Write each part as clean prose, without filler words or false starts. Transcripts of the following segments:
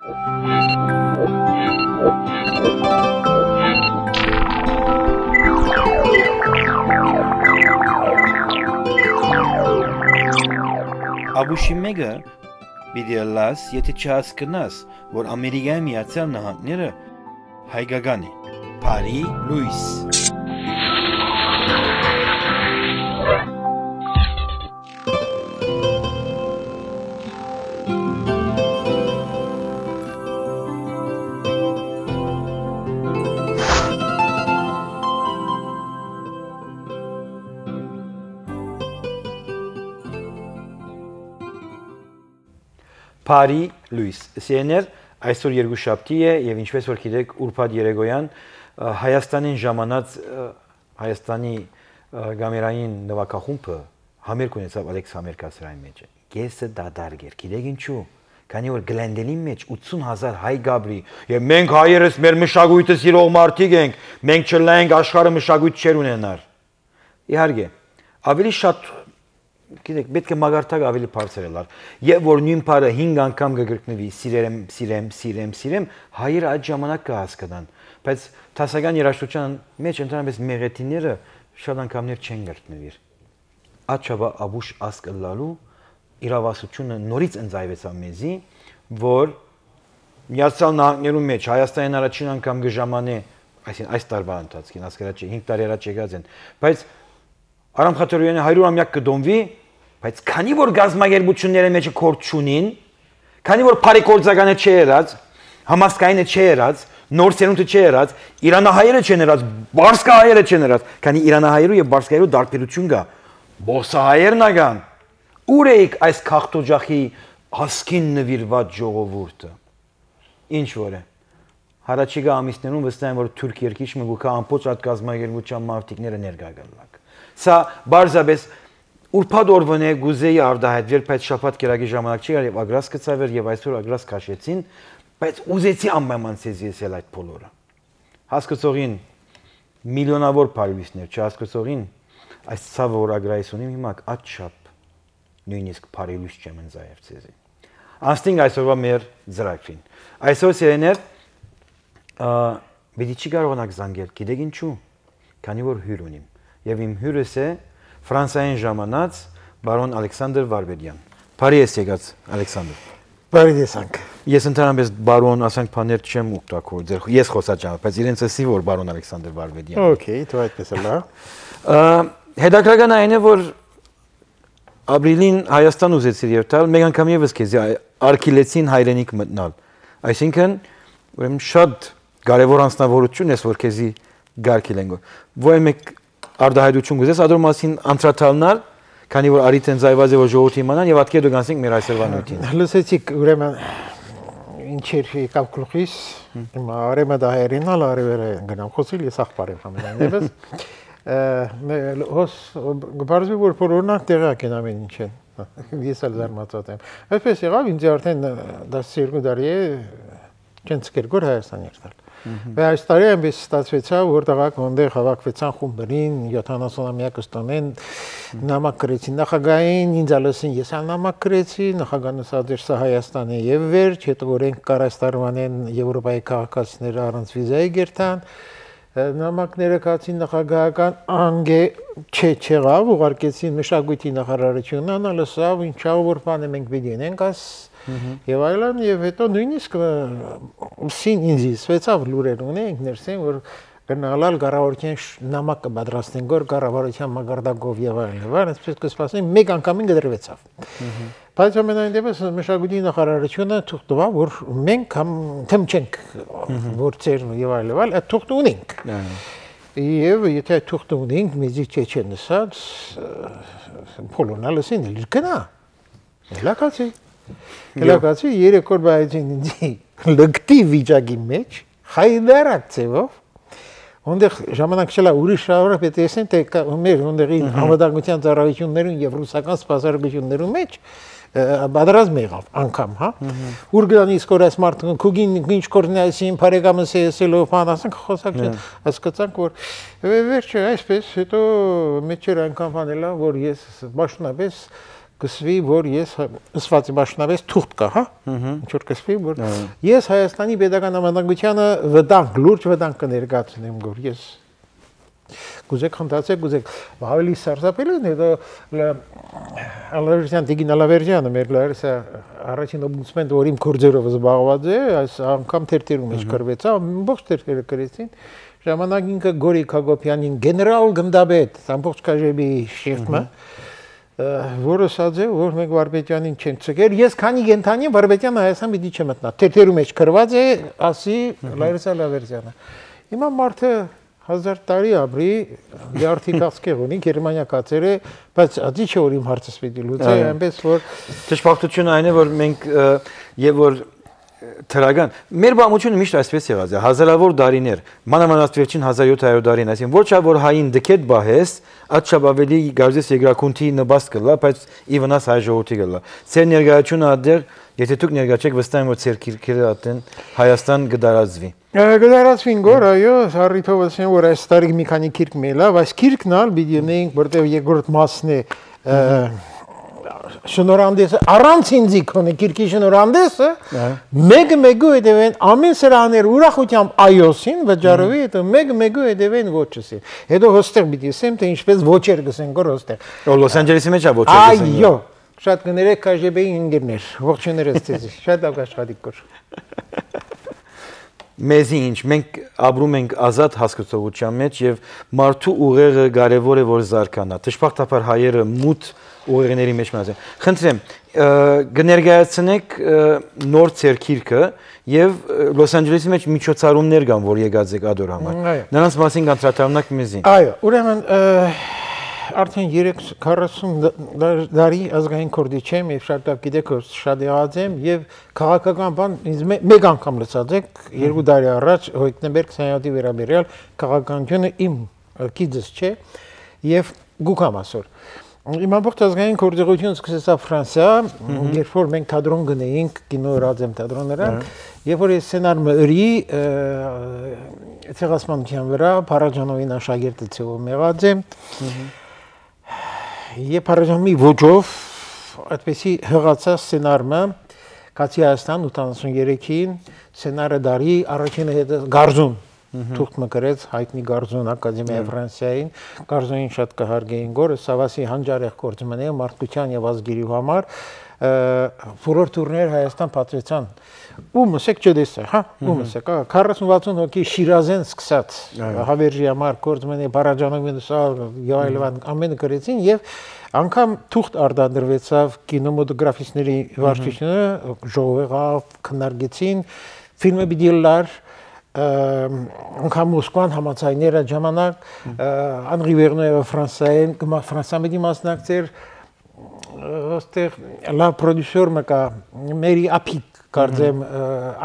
Աբուշի մեկը պիտի լաս, եթե չհասկնաս, որ Ամերիկայի Միացյալ Նահանգները հայկական է, Փարի Լուիս։ Փարի Լուիս, սեներ այսօր երկուշաբթի է եւ ինչպես որ գիտեք ուրբաթ երեկոյան Հայաստանին ժամանած Հայաստանի գամերային նվագախումբը համերգ ունեցավ Ալեքս Համերգասրայի մեջ։ Գեսը դադարք էր, գիտեք ինչու։ Քանի որ Գլենդենի մեջ 80,000 հայ գաբրի եւ մենք հայերս մեր մշակույթը սիրող մարդիկ ենք, մենք չլենք աշխարհը մշակույթ չեր ունենար։ Իհարկե, ավելի շատ գիտեք, պետք է մագարտակ ավելի բարձր ելար։ Եվ որ նույն բառը 5 անգամ կգրկնվի, սիրեմ, հայերը այդ ժամանակ կհասկանան, բայց տասական երաժշտության մեջ ընդհանրապես մեղեթիները շատ անգամներ չեն գրկնվիր։ Աչաբա աբուշ ասկլալու իրավասությունը նորից ընձայվեցավ մեզի, որ Միացյալ Նահանգներու մեջ Հայաստանին առաջին անգամ գժամանե, այսինքն այս տարվա ընթացքին, ասկարաչի 5 տարի առաջ եկած են, բայց Արամ Խաչատրյանի 100-ամյակ կդոմվի, բայց քանի որ գազագերբությունները մեջը կորտ չունին, քանի որ բարի գործականը չի եղած, համասկայինը չի եղած, նոր սերունդը չի եղած, իրանահայերը չեն եղած, բարսկահայերը չեն եղած, քանի իրանահայերու եւ բարսկահայերու դարբերություն կա, բոսահայերն ական, ուր էիք այս քաղտոջախի հասկին նվիրված ժողովուրդը։ Ինչ որ է։ Հարաճիգա ամիսներուն վստահ եմ որ թուրք երկիչ մգուկա ամբողջ այդ գազագերբության մարտիկները ներկա գալակ։ Սա բարձաբես ուրբաթ օրվան է գուզեի արդահայտվել, բայց շաբաթ կերակի ժամանակ չի եւ ագրաս կծավեր եւ այսօր ագրաս քաշեցին, բայց ուզեցի անպայմանցեզ ես էլ այդ բոլորը։ Հասկացողին միլիոնավոր բարվիսներ, չհասկացողին այս ցավը որ ագրայս ունիմ հիմա աչափ նույնիսկ բարելույս չեմ ընձայև ցեզի։ Անստինգ այսօրվա մեր ծրագրին։ Այսօր սերեներ բիդի չի կարողանաք զանգել, գիտեք ինչու։ Քանի որ հյուր ունիմ եւ իմ հյուրս է Ֆրանսիային ժամանած բարոն Ալեքսանդր Վարվեդյան։ Բարի ես եկած Ալեքսանդր։ Բարի տեսանք։ Ես ընդհանրապես բարոն ասենք բաներ չեմ օգտագործել։ Ես խոսած եմ, բայց իրենց էսի որ բարոն Ալեքսանդր Վարվեդյան։ Okay, դու այդպես լա։ Հետաքրքրական այն է որ ապրիլին Հայաստան ուզեցիր եւ տալ, մեկ անգամ եւս քեզ արքիլեցին հայրենիք մտնալ։ Այսինքն ուրեմն շատ կարևոր անձնավորություն ես որ քեզի գարկիլեն։ Ոյ մեկ արդահայտություն գուզես ադոր մասին անդրադառնալ, քանի որ արիտ են զայված է որ ժողովրդի իմանան եւ ատկե դու գանցենք մեր այսօրվա նույնին։ Լսեցիք ուրեմն ինչեր եկավ գլխիս, հիմա արեմը դահերինալ արևերը գնամ խոսիլ ես ախպար եմ համենայնիվս։ Հոս գբարզի որ բոլորնակ տեղակ են ամեն ինչ են։ Ես էլ զարմացած եմ։ Այսպես եղավ ինձ արդեն 12 տարի է չեն սկերգոր Հայաստան եկալ։ Բայց այս տարի այնպես ստացվեցավ, որ տղաք ոնդեղ հավաքվեցան խումբերին, 70-ամյակը ստանեն, նամակ գրեցին նախագահային, ինձ ալսին ես ալ նամակ գրեցի, նախագահն ասաց էր սա Հայաստան է եւ վերջ, հետո օրենք կար այս տարվանեն Եվրոպայի քաղաքացիները առանց վիզայի գերտան, նամակները կացին նախագահական անգե չեղավ, ուղարկեցին մշակույթի նախարարությունն անալսավ, ինչա որ բանը մենք պիտի ունենք աս եւ այլն եւ հետո նույնիսկ սին ինձ սվեցավ լուրեր ունենք ներսեն որ գնալալ կառավարության նամակ կպատրաստեն գոր կառավարության մագարտակով եւ այլն այսպես կսպասեն մեկ անգամին գդրվեցավ բայց ամենայն դեպս մշակույթի նախարարությունը թուղթ տվավ որ մենք թեմ չենք որ ծեր եւ այլն այդ թուղթ ունենք եւ եթե այդ թուղթ ունենք մեզի չեն ասած բոլորնալսին լկնա լակացի երեք օր բայցին ինձի լկտի վիճակի մեջ հայդարակ ծեվով Ոնդեղ ժամանակ չլա ուրիշ շարը պետք է տեսնեն թե մեր ոնդեղի համադարության ծառայություններուն եւ ռուսական սպասարկություններուն մեջ բادرազմ եղավ անգամ, հա։ Ուր գնան իսկ որ այս մարդը քուգին ինչ կորնայսին բարեկամս էսելով բան ասենք խոսակ հասկացանք որ վերջը այսպես հետո մեջեր անգամ բանելա որ ես բաշնապես կսվի, որ ես ըսված եմ աշնավես թուղթ կա, հա։ Ինչ որ կսվի, որ ես Հայաստանի pedagogan համանդրությունը վտանգ, լուրջ վտանգ կներկայացնեմ, որ ես կուզեք խնդացեք, կուզեք ավելի սարսափելի է, հետո Ալավերյան Տիգին Ալավերյանը մեր լարսա առաջին օմբուդսմենը, որ իմ կորձերով զբաղված է, այս անգամ թերթերում մեջ կրվեցա, ամբողջ թերթերը կրեցին, ժամանակ ինքը Գորիկ Հակոբյանին գեներալ գնդաբեդ, ամբողջ կաժեբի շեֆը, որը ասաց է, որ մենք Վարպետյանին չենք ցկել, ես քանի կենթանի Վարպետյանը Հայաստան պիտի չմտնա, թերթերում մեջ կրված է, ասի Լարիսա Ալավերյանը։ Հիմա մարդը 1000 տարի ապրի, դիարթի կասկեղ ունի, Գերմանիա կացեր է, բայց ադի չէ որ իմ հարցս պիտի լուծի, այնպես որ Ճշմարտությունը այն է, որ մենք եւ որ թրագան մեր բամությունը միշտ այսպես եղած է, հազարավոր դարիներ, մանավանդ վերջին 1700 դարին, այսինքն ոչ որ հային դքետ բահես, ատչապ ավելի գարզես եգրակունթի նպաստ կլա, բայց ի վնաս հայ ժողովրդի կլա։ Ձեր ներկայությունը ադեր, եթե դուք ներկայ չեք, վստահ եմ որ ձեր քիրքերը ատեն Հայաստան կդարածվի։ Գդարացվին գոր, այո, հառիթով ասեմ, որ այս տարի մի քանի քիրք մելա, բայց քիրքն ալ պիտի ունենք, որտեղ երկրորդ մասն է շնորհանդեսը, առանց ինձի քոնե քիրքի շնորհանդեսը, մեկ-մեկու հետևեն ամեն սրաներ ուրախությամբ այոսին վճարովի, հետո մեկ-մեկու հետևեն ոչսին։ Հետո հոստեղ պիտի ասեմ, թե ինչպես ոչեր գսեն գոր հոստեղ։ Լոս Անջելեսի մեջ է ոչեր գսեն։ Այո, շատ կներեք KGB-ի ինգերներ, ողջուներս ձեզ, շատ լավ աշխատիկ գոր։ Մեզի ինչ, մենք ապրում ենք ազատ հասկացողության մեջ եւ մարդու ուղեղը կարեւոր է որ զարգանա։ Դժբախտաբար հայերը մութ ուղեղների մեջ մնաց են։ Խնդրեմ, կներկայացնեք նոր ցերքիրքը եւ Լոս Անջելեսի մեջ միջոցառումներ կան, որ եկած եք ադոր համար։ Նրանց մասին կանտրատարնակ մեզի։ Այո, ուրեմն արդեն 40 տարի ազգային քորդի չեմ եւ շատ լավ գիտեք որ շատ եղած եմ եւ քաղաքական բան ինձ մեկ անգամ լսած եք 2 տարի առաջ Հոյտնբերգ 27-ի վերաբերյալ քաղաքականությունը իմ գիծս չէ եւ գուկամ ասոր իմ ամբողջ ազգային քորդեղությունը սկսեցա Ֆրանսիա երբ որ մենք թատրոն գնեինք կինո ռադիոմ թատրոններան երբ որ ես սցենարը ըրի ցեղասպանության վրա Փարաջանովին աշակերտը ցեվում եղած եմ Եվ Փարաջանովի ոճով այդպեսի հղացա սցենարը Կացի Հայաստան 83-ին սցենարը դարի առաջինը հետ Գարզուն թուղթ մկրեց հայտնի Գարզուն Ակադեմիայի Ֆրանսիային Գարզունին շատ կհարգեին գորը Սավասի հանջարեղ գործում են մարդկության եւ ազգերի համար բոլոր տուրներ Հայաստան պատվեցան ու մսեք չդեսա հա ու մսեք 40-60 հոգի Շիրազեն սկսած հավերժի համար գործում են Փարաջանովին եւ այլն ամենը գրեցին եւ անգամ թուղթ արտադրվեցավ կինոմոտոգրաֆիստների վարչությունը ժողովեղավ քննարկեցին ֆիլմը բիդիլար անգամ Մոսկվան համացայները ժամանակ Անրի Վերնոյը Ֆրանսիային Ֆրանսիայի մասնակցեր ոստեղ լա պրոդյուսեր մկա Մերի Ապիկ կարծեմ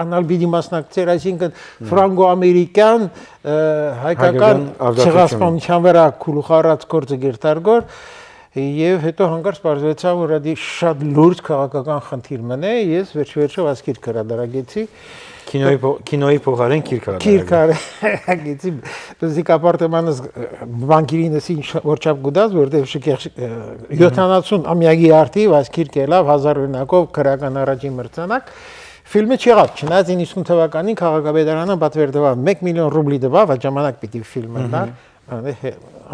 անալբիդի մասնակցեր այսինքն ֆրանգո-ամերիկյան հայկական ցեղասպանության վրա քուլուխարած գործը գերտարգոր եւ հետո հանկարծ բարձրացավ որ դա շատ լուրջ քաղաքական խնդիր մնե ես վերջ-վերջով ասկիր կրադարագեցի Կինոյի փոխարեն քիրքարագեցի բզիկ ապարտամանս բանկիրինս ինչ որչափ գուդած որտեղ շքեղ 70 ամյակի արդի ասկիր կելավ 1000 օրինակով քրական առաջին մրցանակ ֆիլմը չեղավ չնայած 90 թվականին քաղաքապետարանը պատվերդվավ 1 միլիոն ռուբլի տվավ այդ ժամանակ պիտի ֆիլմը դար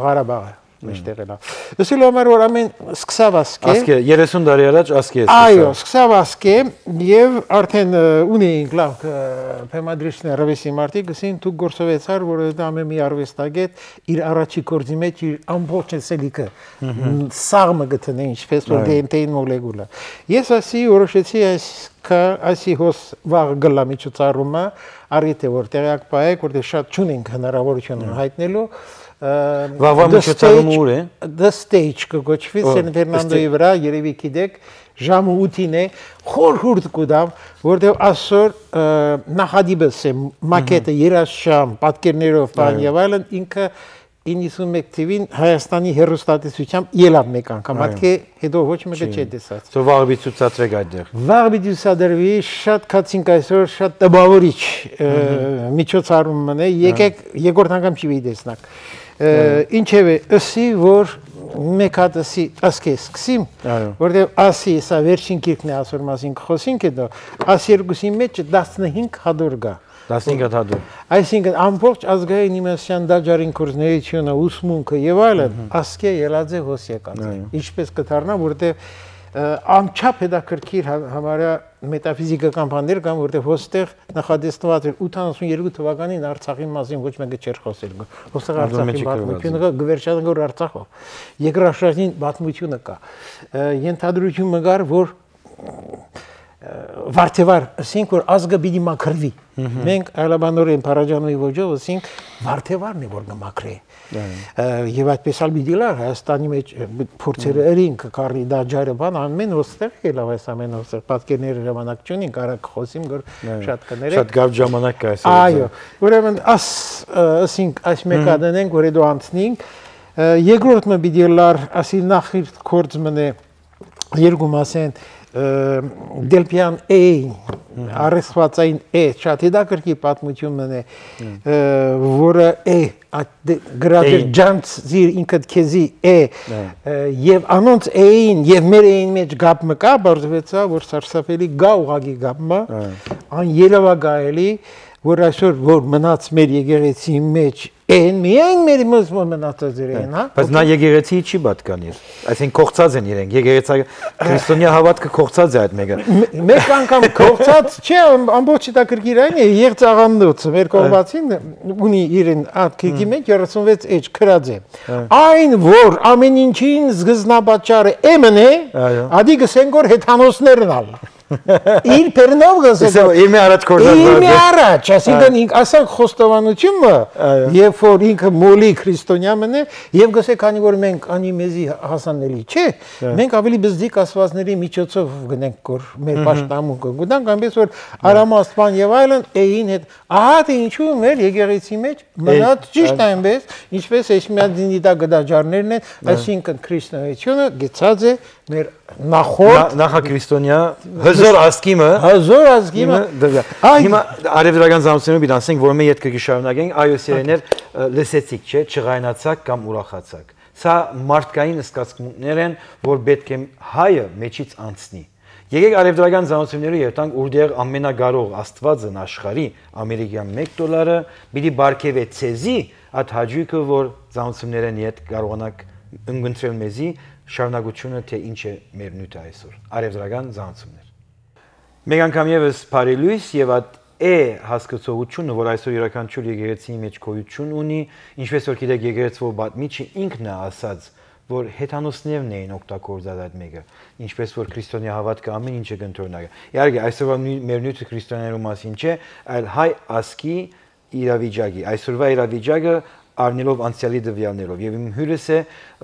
Ղարաբաղը մեջտեղելա Դասի լոմար որ ամեն սկսավ ասկե 30 տարի առաջ ասկե Այո սկսավ ասկե եւ արդեն ունեինք լավ փեմադրիչներ ռավեսի մարտի գսին դու գործովեցար որ դա ամեն մի արվեստագետ իր առաջի կորձի մեջ իր ամբողջ սելիկը սաղմը գտնե ինչպես որ դենտեին մոլեկուլը ես ասի որոշեցի այսի հոս վաղ գլա միջոցառումը արիթե որ տեղյակ պայեք որտեղ շատ չունենք հնարավորություն հայտնելու Վավա միջոցառումը ուր է The Stage կոչվի Սեն Ֆերնանդոյի վրա երևի գիտեք ժամը 8-ին է խորհուրդ կուտամ որտեղ այսօր նախադիբս է մակետը երաշշամ պատկերներով բան եւ այլն ինքը 91 թվին Հայաստանի հերոստատեսությամբ ելավ մեկ անգամ հատկե հետո ոչ մեկը չէ տեսած Սո վաղ ցուցադրեք այդտեղ Վաղ ցուցադրվի շատ կացինք այսօր շատ տպավորիչ միջոցառում մնե եկեք երկրորդ անգամ չի տեսնակ ինչևէ ըսի որ մեկ հատ ասկե սկսիմ, որտեղ ասի սա վերջին գիրքն է ասոր մասին խոսինք հետո, աս երկուսի մեջ 15 հատոր գա։ 15 հատոր։ Այսինքն ամբողջ ազգային իմաստության դաջարին կորզներությունը, ուսմունքը եւ այլն ասկե ելած է հոս եկած։ Ինչպես կդառնա, որտեղ անչափ հետաքրքիր համարյա մետաֆիզիկական բաներ կան, որտեղ հոստեղ նախադեստված էր 82 թվականին Արցախի մասին ոչ մեկը չէր խոսել։ Հոստեղ Արցախի պատմությունը գվերչան գոր Արցախով։ Երկրաշարժին պատմությունը կա։ Ենթադրությունը կար, որ վարդեվար, ասենք որ ազգը պիտի մաքրվի։ Մենք այլաբանորեն Փարաջանովի ոճով ասենք վարդեվարն է որ կմաքրի։ Եվ այդպես ալ պիտի լար Հայաստանի մեջ փորձերը երին կկարի դաջարը բան ամեն ոստեղ ելավ այս ամեն ոստեղ պատկերները ժամանակ չունին կարակ խոսիմ որ շատ կներեք շատ գավ ժամանակ կա այս այո ուրեմն ասենք այս մեկը դնենք որ դու անցնենք երկրորդը պիտի լար ասի նախ կորձ մնե երկու մասեն Դելպյան A արեսվածային A շատ հետաքրքիր պատմությունն է որը A գրադեր ջանց զիր ինքդ քեզի A եւ անոնց A-ին եւ մեր A-ին մեջ գապ մկա բարձվեցա որ սարսափելի գա ուղագի գապը ան երևակայելի որ այսօր որ մնաց մեր եկեղեցի մեջ են միայն մեր մոզմոն մնացած իրեն, հա։ Բայց նա եկեղեցի չի պատկանիր։ Այսինքն կողծած են իրենք։ Եկեղեցի քրիստոնյա հավատքը կողծած է այդ մեկը։ Մեկ անգամ կողծած չէ, ամբողջ հետաքրքիրային է եղծաղանդոցը մեր կողմացին ունի իրեն ատքիկի մեջ 36 էջ քրած է։ Այն որ ամեն ինչին սկզբնապատճառը M-ն է, ադի գսենք որ հեթանոսներն ալ։ Իր պերնով գսել։ Իմի առաջ կորզած։ Իմի առաջ, ասիկան ինք ասանք խոստովանությունը եւ որ ինքը մոլի քրիստոնյա մնե եւ գսե քանի որ մենք անի մեզի հասանելի չէ մենք ավելի բզդիկ ասվածների միջոցով գնենք որ մեր պաշտամունքը գտանք այնպես որ արամաստան եւ այլն էին հետ ահա թե ինչու մեր եկեղեցի մեջ մնաց ճիշտ այնպես ինչպես Էշմիադինիդա գդաջարներն են այսինքն քրիստոնեությունը գեցած է մեր նախորդ նախաքրիստոնյա հզոր ազգիմը հիմա արևելական զամությունով бид ասենք որ մենք յետքը կշարունակենք այո սերեներ լսեցիք չէ չղայնացաք կամ ուրախացաք սա մարդկային սկացմունքներ են որ պետք է հայը մեջից անցնի եկեք արևելական զամությունները երթանք որտեղ ամենագարող աստվածն աշխարհի ամերիկյան $1 պիտի բարգեւե ցեզի այդ հաջուկը որ զամություններն իդ կարողանաք ընկնել մեզի շարունակությունը թե ինչ է մեր նյութը այսօր արևելական զանցումներ մեկ անգամ եւս Փարիլույս եւ այդ է հասկացողությունը որ այսօր յուրաքանչյուր եկեղեցի մեջ գոյություն ունի ինչպես որ գիտեք եկեղեցու բատմիչը ինքն է ասած որ հեթանոսներն էին օգտագործած այդ մեկը ինչպես որ քրիստոնյա հավատքը ամեն ինչը կընտրոնակ իհարկե այսօրվա մեր նյութը քրիստոնյաներու մասին չէ այլ հայ ասկի իրավիճակի այսօրվա իրավիճակը Արնելով անցյալի դվյալներով եւ իմ հյուրս է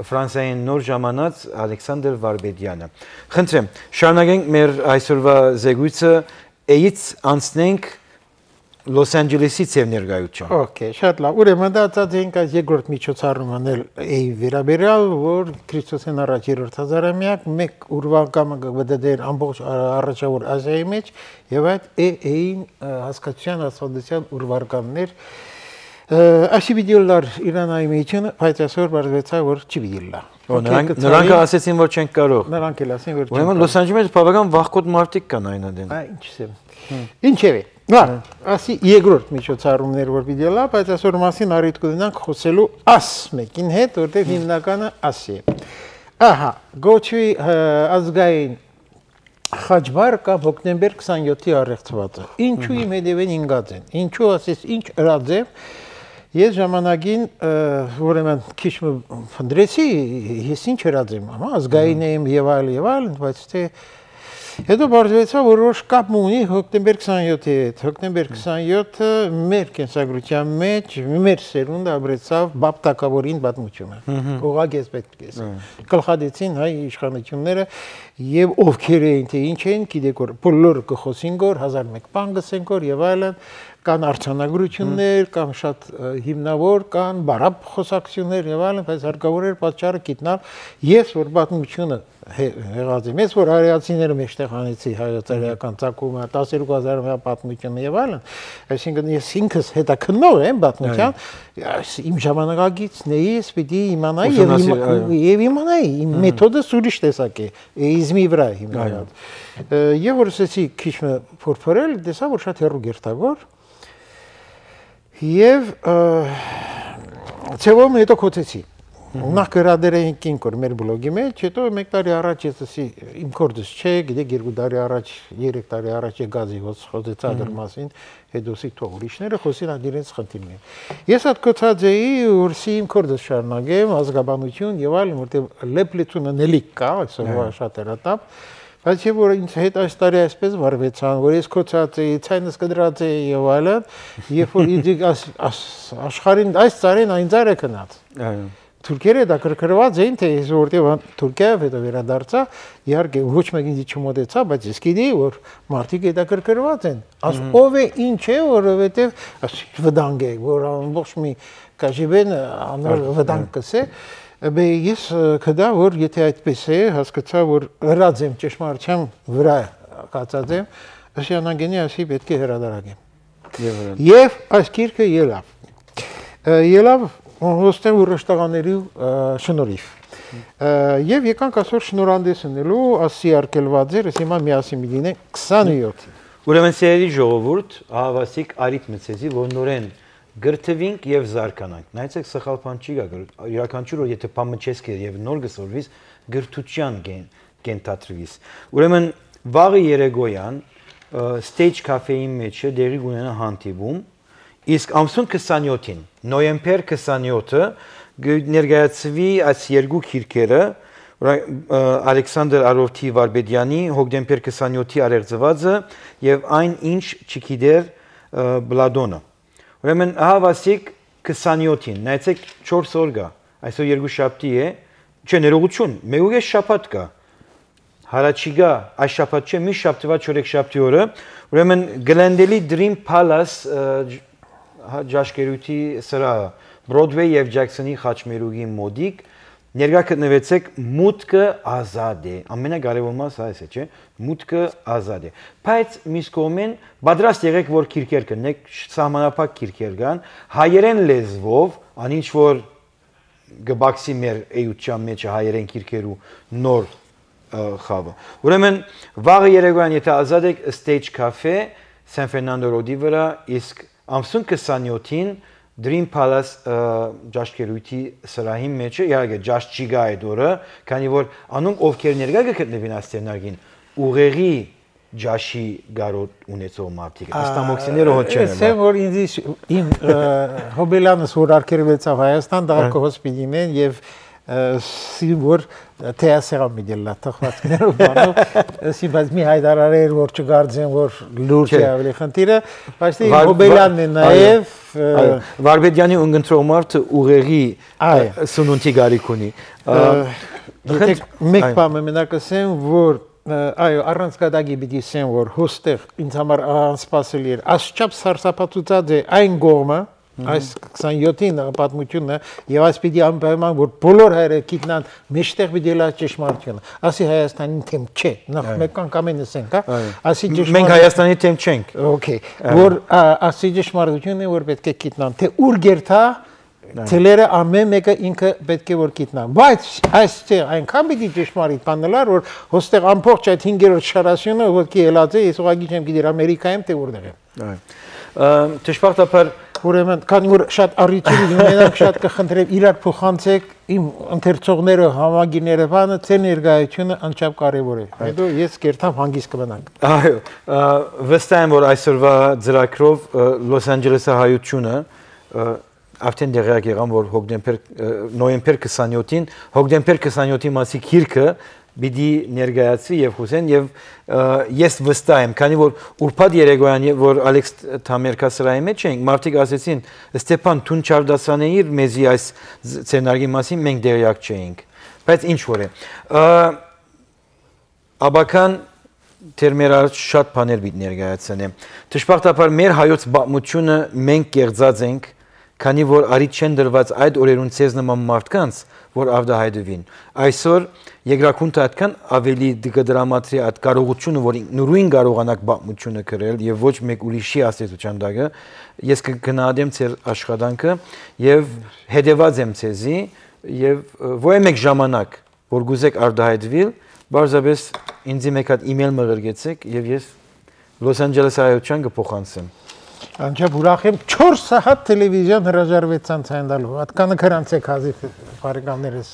Ֆրանսիային նոր ժամանած Ալեքսանդր Վարբեդյանը։ Խնդրեմ, շարունակենք մեր այսօրվա զեկույցը էից անցնենք Լոս Անջելեսից եւ ներկայություն։ Okay, շատ լավ։ Ուրեմն դա ցածենք այս երկրորդ միջոցառումն էլ վերաբերյալ, որ Քրիստոսեն առաջ երրորդ հազարամյակ մեկ ուրվական կվդդեր ամբողջ առաջավոր Ազիայի մեջ եւ այդ էին հասկացության ասոդության ուրվականներ Așa videolar Իրանայի մեջն բայց այսօր բարձվեցա որ չի vidilla։ Նրանք ասեցին որ չենք կարող։ Նրանք էլ ասին որ չենք։ Ուրեմն Լոս Անջելեսի բավական վախկոտ մարդիկ կան այնադեն։ Ինչսեմ։ Ինչևէ։ Լավ, ասի երկրորդ միջոցառումներ որ vidilla, բայց այսօր մասին առիթ կունենանք խոսելու աս մեկին հետ, որտեղ հիմնականը ասի։ Ահա, գոչվի ազգային Խաչբար կամ հոկտեմբեր 27-ի առեղծվածը։ Ինչու իմ հետևեն ինգած են։ Ինչու ասես ինչ ըրած է։ Ես ժամանակին ուրեմն քիչ փնդրեցի, ես ինչ ըրած եմ, հա, ազգային եմ եւ այլն, բայց թե հետո բարձվեցա որոշ կապ ունի հոկտեմբեր 27-ի հետ։ Հոկտեմբեր 27-ը մեր կենսագրության մեջ մեր սերունդը ապրեցավ բապտակավորին պատմությունը։ Ուղղակի ես պետք է ասեմ։ Գլխադեցին հայ իշխանությունները եւ ովքեր էին թե ինչ են, գիտեք որ բոլորը կխոսին գոր 1001 բան գսեն գոր եւ այլն, կան արձանագրություններ, կամ շատ հիմնավոր, կան բարապ խոսակցություններ եւ այլն, բայց հարկավոր էր պատճառը գտնել, ես որ պատմությունը եղած եմ, ես որ արիացիները մեջտեղ անեցի հայոց-արիական ցակումը 12000-ամյա պատմությունը եւ այլն, այսինքն ես ինքս հետաքննող եմ պատմության, իմ ժամանակագիցն էի, ես պիտի իմանայի եւ իմանայի, իմ մեթոդը ուրիշ տեսակ է, իզմի վրա հիմնված։ Եվ որ ասեցի քիչ փորփրել, տեսա որ շատ հեռու գերտագոր եւ ցեվում հետո կոչեցի Նախ գրադեր էինք ինքոր մեր բլոգի մեջ, հետո մեկ տարի առաջ ես ասի իմ կորդս չէ, գիտեք 2 տարի առաջ, 3 տարի առաջ եկածի խոսեցա դրա մասին, հետո սի թող ուրիշները խոսին այդ իրենց խնդիրն է։ Ես այդ կոչած էի, որ սի իմ կորդս շարունակեմ, ազգաբանություն եւ այլն, որտեղ լեփլեցունը նելիք կա, այսօր շատ երատապ, բայց եւ որ ինձ հետ այս տարի այսպես վարվեցան, որ ես կոչած էի, ցայնս կդրած էի եւ այլն, երբ որ ինձ աշխարհին այս ծարին այն ծարը կնած։ Այո Թուրքերը դա կրկրված էին, թե ես որտեղ Թուրքիայով հետո վերադարձա, իհարկե ոչ մեկին ինձ չմոտեցա, բայց ես գիտեի, որ մարդիկ դա կրկրված են։ Աս ով է ինչ է, որովհետև վտանգ է, որ ամբողջ մի կաժիբեն անոր վտանգ կսե, բայց ես կդա, որ եթե այդպես է, հասկացա, որ հրած եմ ճշմարտության վրա կացած եմ, Աշյանագենի ասի պետք է հրադարակեմ։ Եվ այս գիրքը ելավ Ոստեն ուրշտաղաների շնորհիվ։ Եվ եկանք այսօր շնորհանդեսնելու ասի արկելված էր, հիմա միասին մի լինենք 27-ին։ Ուրեմն սերի ժողովուրդ, ահավասիկ արիտ մցեզի, որ նորեն գրթվինք եւ զարկանանք։ Նայեցեք սխալ բան չի գա, յուրաքանչյուր որ եթե փամչեսք է եւ նոր գսորվիս գրթության կենթատրվիս։ Ուրեմն վաղը երեգոյան stage cafe-ի մեջ դերի ունենա հանդիպում Իսկ ամսուն 27-ին, նոյեմբեր 27-ը ներկայացվի այս երկու քիրքերը Ալեքսանդր Արովթի Վարբեդյանի հոկտեմբեր 27-ի արեղծվածը եւ այն ինչ չգիտեր Բլադոնը։ Ուրեմն ահավասիկ 27-ին, նայեցեք 4 օր գա, այսօր երկուշաբթի է, չէ ներողություն, մեկ շաբաթ կա։ Հարաճիգա այս շաբաթ չէ, մի շաբթվա չորեքշաբթի օրը, ուրեմն Glendale Dream Palace Ջաշկերույթի սրահը Բրոդվեյ եւ Ջաքսոնի խաչմերուկի մոդիկ ներկա գտնվեցեք մուտքը ազատ է ամենակարևոր մասը այս է չէ մուտքը ազատ է բայց միս կողմեն պատրաստ եղեք որ քիրքեր կնեք սահմանափակ քիրքեր կան հայերեն լեզվով անինչ որ գբաքսի մեր էյության մեջ հայերեն քիրքերու նոր խավը ուրեմն վաղը երեկոյան եթե ազատ եք stage cafe San Fernando Road-ի վրա իսկ Ամսուն 27-ին Dream Palace ջաշկերույթի սրահի մեջ է, իհարկե ջաշճիգա է դորը, քանի որ անոնք ովքեր ներկա կգտնվին աստենագին, ուղեղի ջաշի գարոտ ունեցող մարդիկ, աստամոքսիները հոտ չեն։ Ասեմ որ ինձ իմ հոբելանս որ արկերվեցավ Հայաստան, դա կհոսպիտին են եւ որ թեասերամ միդելա թխվածքներով բանով ասի բայց մի հայտարարեր որ չգարձեն որ լուրջ է ավելի խնդիրը բայց հոբելյանն է նաև Վարբեդյանի ունգընտրող մարդը ուղեղի սնունդի գարիք ունի մեկ բան մենակ ասեմ որ այո առանց կադագի պիտի ասեմ որ հոստեղ ինձ համար անսպասելի էր ասչափ սարսափացուցած է այն կողմը Այս 27-ին պատմությունը եւ այս պիտի անպայման որ բոլոր հայերը գիտնան մեջտեղ պիտի լա ճշմարտությունը ասի Հայաստանի թեմ չէ նախ մեկ անգամ նսենք հա ասի ճշմարտ մենք Հայաստանի թեմ չենք օքեյ որ ասի ճշմարտությունը որ պետք է գիտնան թե ուր գերտա Թելերը ամեն մեկը ինքը պետք է որ գիտնա բայց այստեղ այնքան պիտի ճշմարիտ բանելար որ հոստեղ ամբողջ այդ 5-րդ շարասյունը ոտքի ելած է ես ուղղակի չեմ գիտեր Ամերիկայում թե որտեղ է Ճշմարտաբար Ուրեմն քանի որ շատ առիթի ունենանք շատ կխնդրեմ իրար փոխանցեք իմ ընթերցողները համագիները բանը ցե ներկայությունը անչափ կարևոր է հետո ես կերտամ հանգիստ կմնանք այո վստահ եմ որ այսօրվա ծրագրով Լոս Անջելեսի հայությունը արդեն դերակ եղան որ նոյեմբեր 27-ին հոկտեմբեր 27-ի մասի քիրքը Բիդի ներկայացվի եւ Հուսեն եւ ես վստահ եմ, քանի որ ուրբաթ երեկոյան որ Ալեքս Թամերկա սրահի մեջ էինք, մարդիկ ասեցին Ստեփան Թուն Չարդասանեիր մեզի այս սցենարի մասին մենք դերյակ չէինք, բայց ինչ որ է։ Աբական թերմեր շատ բաներ պիտի ներկայացնեմ։ Դժբախտաբար մեր հայոց պատմությունը մենք կեղծած ենք, քանի որ արի չեն դրված այդ օրերուն ցեզ նման մարդկանց, որ ավդահայտվին։ Այսօր երկրակունթը այդքան ավելի դրամատրի այդ կարողությունը, որ նույն կարողանակ պատմությունը գրել եւ ոչ մեկ ուրիշի աստեցության դակը, ես կգնահատեմ ձեր աշխատանքը եւ հետեւած եմ ցեզի եւ ոչ մեկ ժամանակ, որ գուզեք արդահայտվել, բարձրապես ինձ մեկ հատ email մղրգեցեք եւ ես Լոս Անջելես հայության կփոխանցեմ։ Անջա ուրախ եմ 4 սահատ տելևիզիոն հրաժարվեցան ցայնալու։ Հատկանը քրանցեք հազի բարեկամներս։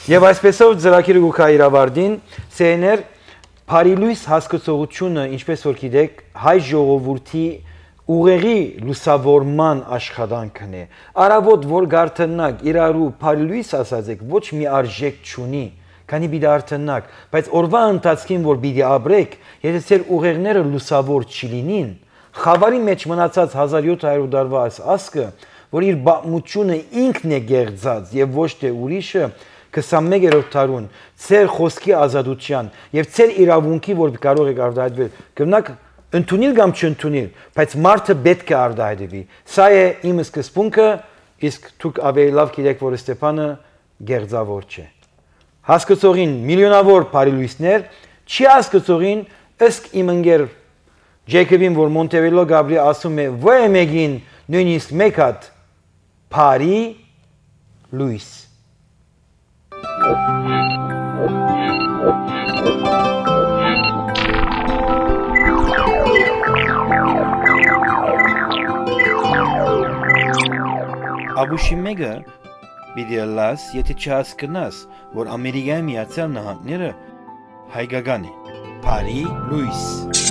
Եվ այսպեսով ծրագիրը գուքա իրավարդին, CNR Փարիլույս հասկացողությունը, ինչպես որ գիտեք, հայ ժողովրդի ուղեղի լուսավորման աշխատանքն է։ Արավոտ որ գարթնակ իրարու Փարիլույս ասածեք, ոչ մի արժեք չունի, քանի պիտի արթնակ, բայց օրվա ընթացքին որ պիտի ապրեք, եթե ձեր ուղեղները լուսավոր չլինին, խավարի մեջ մնացած 1700 տարվա ասկը, որ իր պատմությունը ինքն է գեղձած եւ ոչ թե ուրիշը 21-րդ դարուն ձեր խոսքի ազատության եւ ձեր իրավունքի որ կարող եք արդահայտվել կնակ ընդունիլ կամ չընդունիլ բայց մարդը պետք է արդահայտվի սա է իմ սկզբունքը իսկ դուք ավելի լավ գիտեք որ Ստեփանը գեղձավոր չէ հասկացողին միլիոնավոր բարիլույսներ չի հասկացողին ըստ իմ ընկեր Ջեյքոբին որ Մոնտեվելո Գաբրի ասում է ոչ մեկին նույնիսկ մեկ հատ Փարի լույս Աբուշիմեգը պիտի լաս, եթե չհասկնաս, որ Ամերիկայի Միացյալ Նահանգները հայկական է, Փարի լույս